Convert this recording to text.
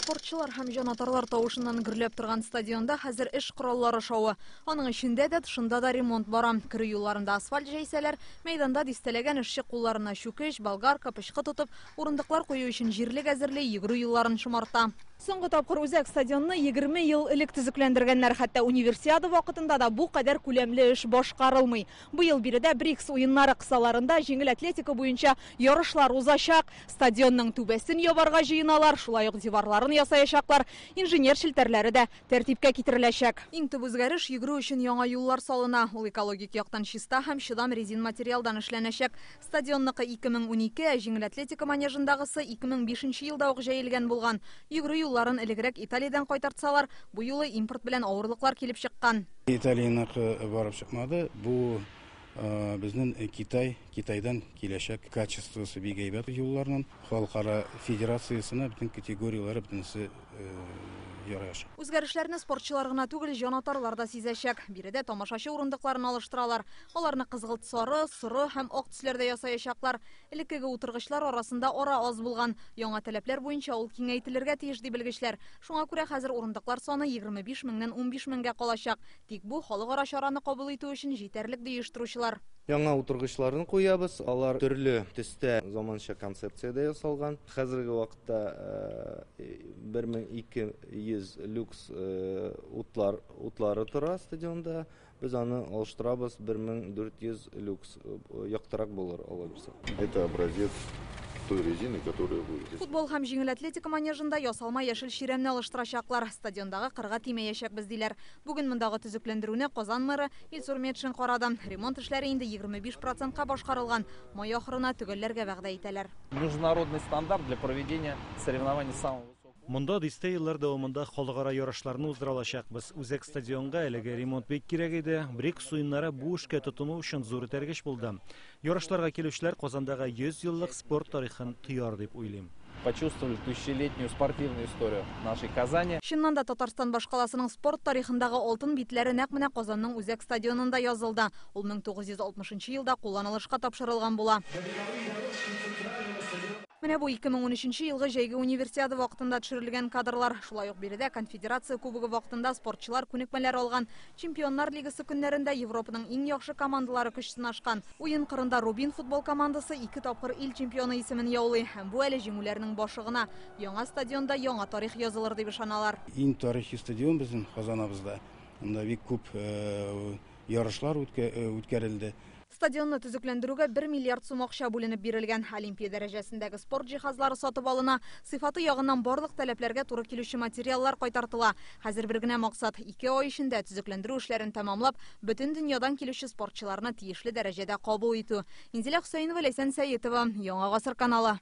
Спортчылар һәм җанатарлар тавышыннан гөрләп торган стадионда хәзер эш кораллары шавы. Аның эчендә дә, тышында да ремонт бара. Керү юлларында асфальт җәйсәләр, мәйданда дистәләгән эшче кулларына чүкеч, болгарка, пычкы тотып, урындыклар кую өчен җирлек әзерли, йөгерү юлларын шомарта. Соңгы тапкыр үзәк стадионны 20 ел элек төзекләндергәннәр. Хәтта Универсиада вакытында да бу кадәр күләмле эш башкарылмый. Быел биредә БРИКС уеннары кысаларында җиңел атлетика буенча ярышлар узачак. Стадионның түбәсен ябарга җыеналар, шулай ук диварларын ясаячаклар, инженер челтәрләре дә тәртипкә китереләчәк. Иң төп үзгәреш, йөгерү өчен яңа юллар салына. Ул экологик яктан чиста һәм чыдам резин материалдан эшләнәчәк. Стадионныкы 2012, ә җиңел атлетика манежындагысы 2005 елда ук җәелгән булган. Йөгерү юлларын элегрәк Италиядән кайтартсалар, бу юлы импорт белән авырлыклар килеп чыккан. Италияныкы барып чыкмады. Бу безнең Китай, Китайдан киләчәк качествосы бик әйбәт юлларның. Халыкара федерациясенә бөтен категорияләре бөтенесе ярыячак. Үзгәрешләрне спортчылар гына түгел, җанатарлар да сизәчәк. Биредә тамашачы урындыкларын алыштыралар. Аларны кызгылт сары, соры һәм ак төсләрдә ясаячаклар. Элеккеге утыргычлар арасында ара аз булган. Яңа таләпләр буенча ул киңәйтелергә тиеш, ди белгечләр. Шуңа күрә хәзер урындыклар саны 25 меңнән 15 меңгә калачак. Тик бу халыкара чараны кабул итү өчен җитәрлек, ди оештыручылар. Яңа утыргычларны куябыз. Алар төрле төстә, заманча концепциядә ясалган. Хәзерге вакытта 1200 люкс утлар, утлары тора стадионда. Без аны алыштырабыз, 1400 люкс яктырак булыр, Алла бирсә. Это образец той резины, которая будет. Футбол һәм җиңел атлетика манежында ясалма яшел чирәмне алыштырачаклар. Стадиондагы кырга тимәячәкбез, диләр. Бүген мондагы төзекләндерүне Казан мэры Илсур Метшин карады. Ремонт эшләре инде 25 процентка башкарылган. Май ахырына төгәлләргә вәгъдә итәләр. Международный стандарт для проведения соревнований самого высокого. Монда дистә еллар дәвамында халыкара ярышларны уздыра алачакбыз. Үзәк стадионга әлеге ремонт бик кирәк иде. БРИКС уеннары бу эшкә тотыну өчен зур этәргеч булды. Ярышларга килүчеләр Казандагы 100 еллык спорт тарихын тояр дип уйлыйм. Почувствовали тысячелетнюю спортивную историю нашей Казани. Чыннан да, Татарстан башкаласының спорт тарихындагы алтын битләре нәкъ менә Казанның үзәк стадионында язылды. Ул 1960 елда кулланылышка тапшырылган була. Менә бу 2013 елгы җәйге универсиада вакытында төшерелгән кадрлар. Шулай ук биредә Конфедерация кубогы вакытында спортчылар күнекмәләр алган. Чемпионнар лигасы көннәрендә Европаның иң яхшы командалары көч сынашкан. Уен кырында Рубин футбол командасы ике тапкыр ил чемпионы исемен яулый. Һәм бу әле җиңүләрнең башы гына. Яңа стадионда яңа тарих язылыр дип ышаналар. Иң тарихи стадион безнең Казаныбызда. Монда бик күп ярышлар үткәрелде. Стадионны төзекләндерүгә 1 миллиард сум акча бүленеп бирелгән. Олимпия дәрәҗәсендәге спорт җиһазлары сатып алына. Сыйфаты ягыннан барлык таләпләргә туры килүче материаллар кайтартыла. Хәзер бер генә максат: 2 ай эчендә төзекләндерү эшләрен тәмамлап, бөтен дөньядан килүче спортчыларны тиешле дәрәҗәдә кабул итү. Инзилә Хөсәенова, Ләйсән Сәетова, Яңа Гасыр каналы.